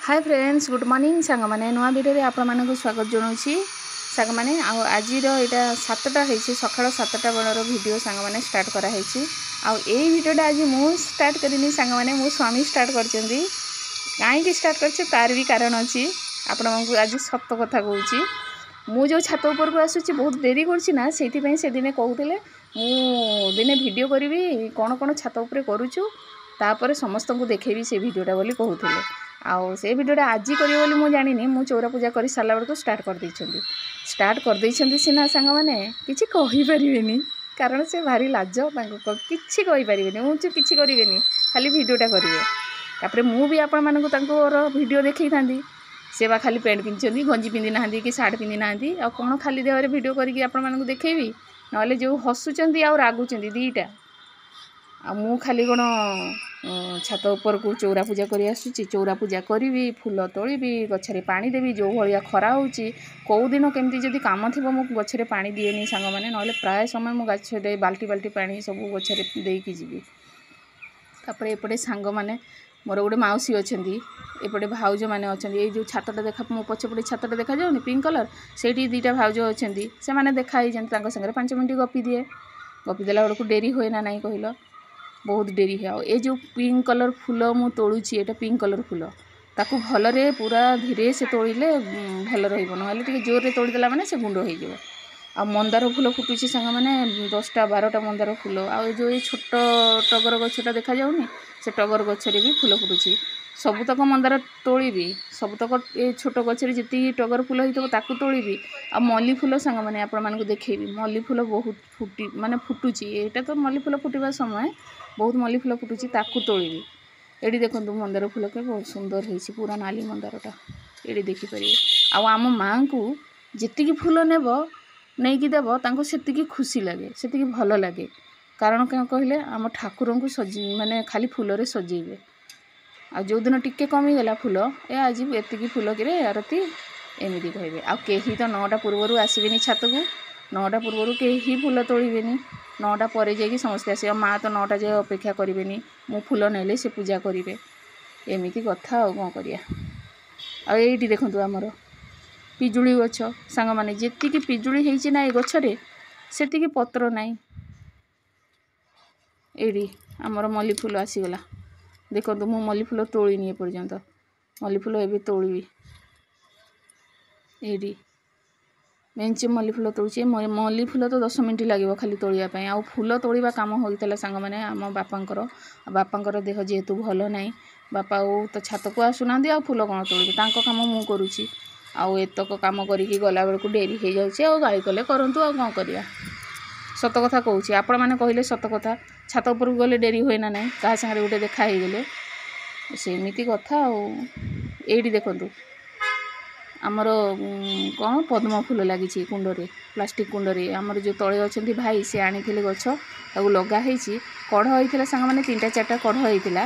ହାଏ friends, good morning ସାଙ୍ଗମାନେ। ନୂଆ ଭିଡ଼ିଓରେ ଆପଣମାନଙ୍କୁ ସ୍ୱାଗତ ଜଣାଉଛି ସାଙ୍ଗମାନେ। ଆଉ ଆଜିର ଏଇଟା 7ଟା ହେଇଛି, ସକାଳ 7ଟା ବେଳର ଭିଡ଼ିଓ ସାଙ୍ଗମାନେ ଷ୍ଟାର୍ଟ କରାହେଇଛି। ଆଉ ଏଇ ଭିଡ଼ିଓଟା ଆଜି ମୁଁ ଷ୍ଟାର୍ଟ କରିନି ସାଙ୍ଗମାନେ, ମୋ ସ୍ୱାମୀ ଷ୍ଟାର୍ଟ କରିଛନ୍ତି। କାହିଁକି ଷ୍ଟାର୍ଟ କରିଛି ତାର ବି କାରଣ ଅଛି। ଆପଣଙ୍କୁ ଆଜି ସତ କଥା କହୁଛି, ମୁଁ ଯେଉଁ ଛାତ ଉପରକୁ ଆସୁଛି ବହୁତ ଡେରି କରୁଛି ନା, ସେଇଥିପାଇଁ ସେଦିନେ କହୁଥିଲେ ମୁଁ ଦିନେ ଭିଡ଼ିଓ କରିବି, କ'ଣ କ'ଣ ଛାତ ଉପରେ କରୁଛୁ, ତାପରେ ସମସ୍ତଙ୍କୁ ଦେଖେଇବି ସେ ଭିଡ଼ିଓଟା ବୋଲି କହୁଥିଲେ। ଆଉ ସେ ଭିଡ଼ିଓଟା ଆଜି କରିବେ ବୋଲି ମୁଁ ଜାଣିନି। ମୁଁ ଚଉରା ପୂଜା କରି ସାରିଲା ବେଳକୁ ଷ୍ଟାର୍ଟ କରିଦେଇଛନ୍ତି। ଷ୍ଟାର୍ଟ କରିଦେଇଛନ୍ତି ସିନା ସାଙ୍ଗମାନେ, କିଛି କହିପାରିବେନି, କାରଣ ସେ ଭାରି ଲାଜ ତାଙ୍କୁ, କିଛି କହିପାରିବେନି। ମୁଁ କିଛି କରିବେନି, ଖାଲି ଭିଡ଼ିଓଟା କରିବେ। ତାପରେ ମୁଁ ବି ଆପଣମାନଙ୍କୁ ତାଙ୍କର ଭିଡ଼ିଓ ଦେଖେଇଥାନ୍ତି। ସେ ବା ଖାଲି ପ୍ୟାଣ୍ଟ ପିନ୍ଧିଛନ୍ତି, ଗଞ୍ଜି ପିନ୍ଧି ନାହାନ୍ତି କି ସାର୍ଟ ପିନ୍ଧି ନାହାନ୍ତି। ଆଉ କ'ଣ ଖାଲି ଦେହରେ ଭିଡ଼ିଓ କରିକି ଆପଣମାନଙ୍କୁ ଦେଖେଇବି? ନହେଲେ ଯେଉଁ ହସୁଛନ୍ତି ଆଉ ରାଗୁଛନ୍ତି ଦୁଇଟା। ଆଉ ମୁଁ ଖାଲି କ'ଣ ଛାତ ଉପରକୁ ଚଉରା ପୂଜା କରି ଆସୁଛି? ଚଉରା ପୂଜା କରିବି, ଫୁଲ ତୋଳିବି, ଗଛରେ ପାଣି ଦେବି। ଯେଉଁ ଭଳିଆ ଖରା ହେଉଛି, କେଉଁ ଦିନ କେମିତି ଯଦି କାମ ଥିବ ମୁଁ ଗଛରେ ପାଣି ଦିଏନି ସାଙ୍ଗମାନେ, ନହେଲେ ପ୍ରାୟ ସମୟ ମୁଁ ଗଛରେ ବାଲ୍ଟି ବାଲ୍ଟି ପାଣି ସବୁ ଗଛରେ ଦେଇକି ଯିବି। ତାପରେ ଏପଟେ ସାଙ୍ଗମାନେ ମୋର ଗୋଟେ ମାଉସୀ ଅଛନ୍ତି, ଏପଟେ ଭାଉଜମାନେ ଅଛନ୍ତି। ଏଇ ଯେଉଁ ଛାତଟା ଦେଖା, ମୋ ପଛପଟେ ଛାତଟା ଦେଖାଯାଉନି ପିଙ୍କ କଲର୍, ସେଇଠି ଦୁଇଟା ଭାଉଜ ଅଛନ୍ତି। ସେମାନେ ଦେଖା ହେଇଛନ୍ତି, ତାଙ୍କ ସାଙ୍ଗରେ 5 ମିନିଟ୍ ଗପି ଦିଏ। ଗପି ଦେଲା ବେଳକୁ ଡେରି ହୁଏ ନା ନାହିଁ କହିଲ? ବହୁତ ଡେରି ହୁଏ। ଆଉ ଏ ଯେଉଁ ପିଙ୍କ କଲର୍ ଫୁଲ ମୁଁ ତୋଳୁଛି, ଏଇଟା ପିଙ୍କ କଲର୍ ଫୁଲ, ତାକୁ ଭଲରେ ପୁରା ଧୀରେ ସେ ତୋଳିଲେ ଭଲ ରହିବ, ନହେଲେ ଟିକେ ଜୋରରେ ତୋଳିଦେଲା ମାନେ ସେ ଗୁଣ୍ଡ ହେଇଯିବ। ଆଉ ମନ୍ଦାର ଫୁଲ ଫୁଟୁଛି ସାଙ୍ଗମାନେ, 10ଟା 12ଟା ମନ୍ଦାର ଫୁଲ। ଆଉ ଏ ଯେଉଁ ଏଇ ଛୋଟ ଟଗର ଗଛଟା ଦେଖାଯାଉନି, ସେ ଟଗର ଗଛରେ ବି ଫୁଲ ଫୁଟୁଛି। ସବୁତକ ମନ୍ଦାର ତୋଳିବି, ସବୁତକ ଏ ଛୋଟ ଗଛରେ ଯେତିକି ଟଗର ଫୁଲ ହେଇଥିବ ତାକୁ ତୋଳିବି। ଆଉ ମଲ୍ଲି ଫୁଲ ସାଙ୍ଗମାନେ ଆପଣମାନଙ୍କୁ ଦେଖେଇବି, ମଲ୍ଲି ଫୁଲ ବହୁତ ଫୁଟି ମାନେ ଫୁଟୁଛି। ଏଇଟା ତ ମଲ୍ଲି ଫୁଲ ଫୁଟିବା ସମୟ, ବହୁତ ମଲ୍ଲି ଫୁଲ ଫୁଟୁଛି, ତାକୁ ତୋଳିବି। ଏଠି ଦେଖନ୍ତୁ ମନ୍ଦାର ଫୁଲ କେ ବହୁତ ସୁନ୍ଦର ହେଇଛି, ପୁରା ନାଲି ମନ୍ଦାରଟା ଏଠି ଦେଖିପାରିବେ। ଆଉ ଆମ ମାଆଙ୍କୁ ଯେତିକି ଫୁଲ ନେବ ନେଇକି ଦେବ, ତାଙ୍କୁ ସେତିକି ଖୁସି ଲାଗେ, ସେତିକି ଭଲ ଲାଗେ। କାରଣ କ'ଣ କହିଲେ, ଆମ ଠାକୁରଙ୍କୁ ସଜେଇ ମାନେ ଖାଲି ଫୁଲରେ ସଜେଇବେ। ଆଉ ଯେଉଁଦିନ ଟିକେ କମିଗଲା ଫୁଲ, ଏ ଆଜି ଏତିକି ଫୁଲ କିରେ ଆରତି, ଏମିତି କହିବେ। ଆଉ କେହି ତ 9ଟା ପୂର୍ବରୁ ଆସିବେନି ଛାତକୁ, 9ଟା ପୂର୍ବରୁ କେହି ଫୁଲ ତୋଳିବେନି। 9ଟା ପରେ ଯାଇକି ସମସ୍ତେ ଆସିବେ। ମା ତ 9ଟା ଯାଏ ଅପେକ୍ଷା କରିବେନି, ମୁଁ ଫୁଲ ନେଲେ ସେ ପୂଜା କରିବେ। ଏମିତି କଥା, ଆଉ କ'ଣ କରିବା। ଆଉ ଏଇଠି ଦେଖନ୍ତୁ ଆମର ପିଜୁଳି ଗଛ ସାଙ୍ଗମାନେ, ଯେତିକି ପିଜୁଳି ହେଇଛି ନା ଏ ଗଛରେ, ସେତିକି ପତ୍ର ନାହିଁ। ଏଇଠି ଆମର ମଲ୍ଲି ଫୁଲ ଆସିଗଲା ଦେଖନ୍ତୁ। ମୁଁ ମଲ୍ଲି ଫୁଲ ତୋଳିନି ଏପର୍ଯ୍ୟନ୍ତ, ମଲ୍ଲି ଫୁଲ ଏବେ ତୋଳିବି। ଏଇଠି ମେଞ୍ଚେ ମଲ୍ଲି ଫୁଲ ତୋଳୁଛି। ମଲ୍ଲି ଫୁଲ ତ 10 ମିନିଟ୍ ଲାଗିବ ଖାଲି ତୋଳିବା ପାଇଁ। ଆଉ ଫୁଲ ତୋଳିବା କାମ ହୋଇଥିଲା ସାଙ୍ଗମାନେ ଆମ ବାପାଙ୍କର। ବାପାଙ୍କର ଦେହ ଯେହେତୁ ଭଲ ନାହିଁ, ବାପା ଆଉ ତ ଛାତକୁ ଆସୁନାହାନ୍ତି, ଆଉ ଫୁଲ କ'ଣ ତୋଳିବେ? ତାଙ୍କ କାମ ମୁଁ କରୁଛି। ଆଉ ଏତକ କାମ କରିକି ଗଲାବେଳକୁ ଡେରି ହେଇଯାଉଛି। ଆଉ ଗାଳି କଲେ କରନ୍ତୁ, ଆଉ କ'ଣ କରିବା। ସତ କଥା କହୁଛି, ଆପଣମାନେ କହିଲେ ସତ କଥା, ଛାତ ଉପରକୁ ଗଲେ ଡେରି ହୁଏ ନା ନାହିଁ? କାହା ସାଙ୍ଗରେ ଗୋଟେ ଦେଖା ହେଇଗଲେ ସେମିତି କଥା। ଆଉ ଏଇଠି ଦେଖନ୍ତୁ ଆମର କ'ଣ ପଦ୍ମ ଫୁଲ ଲାଗିଛି କୁଣ୍ଡରେ, ପ୍ଲାଷ୍ଟିକ୍ କୁଣ୍ଡରେ। ଆମର ଯେଉଁ ତଳେ ଅଛନ୍ତି ଭାଇ, ସେ ଆଣିଥିଲେ ଗଛ, ତାକୁ ଲଗା ହେଇଛି। କଢ଼ ହେଇଥିଲା ସାଙ୍ଗମାନେ, 3ଟା 4ଟା କଢ଼ ହେଇଥିଲା।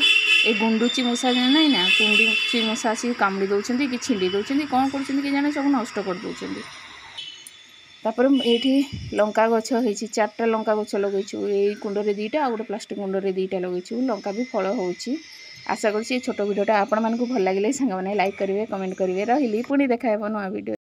ଏ ଗୁଣ୍ଡୁଚି ମୂଷା ନାହିଁ ନା, ଗୁଣ୍ଡୁଚି ମୂଷା ଆସିକି କାମୁଡ଼ି ଦେଉଛନ୍ତି କି ଛିଣ୍ଡି ଦେଉଛନ୍ତି, କ'ଣ କରୁଛନ୍ତି କି ଜାଣେ, ସବୁ ନଷ୍ଟ କରିଦେଉଛନ୍ତି। ତାପରେ ଏଇଠି ଲଙ୍କା ଗଛ ହେଇଛି, 4ଟା ଲଙ୍କା ଗଛ ଲଗେଇଛୁ। ଏଇ କୁଣ୍ଡରେ 2ଟା ଆଉ ଗୋଟେ ପ୍ଲାଷ୍ଟିକ୍ କୁଣ୍ଡରେ 2ଟା ଲଗେଇଛୁ। ଲଙ୍କା ବି ଫଳ ହେଉଛି। ଆଶା କରୁଛି ଏ ଛୋଟ ଭିଡ଼ିଓଟା ଆପଣମାନଙ୍କୁ ଭଲ ଲାଗିଲେ ସାଙ୍ଗମାନେ ଲାଇକ୍ କରିବେ, କମେଣ୍ଟ କରିବେ। ରହିଲି, ପୁଣି ଦେଖା ହେବ ନୂଆ ଭିଡ଼ିଓ।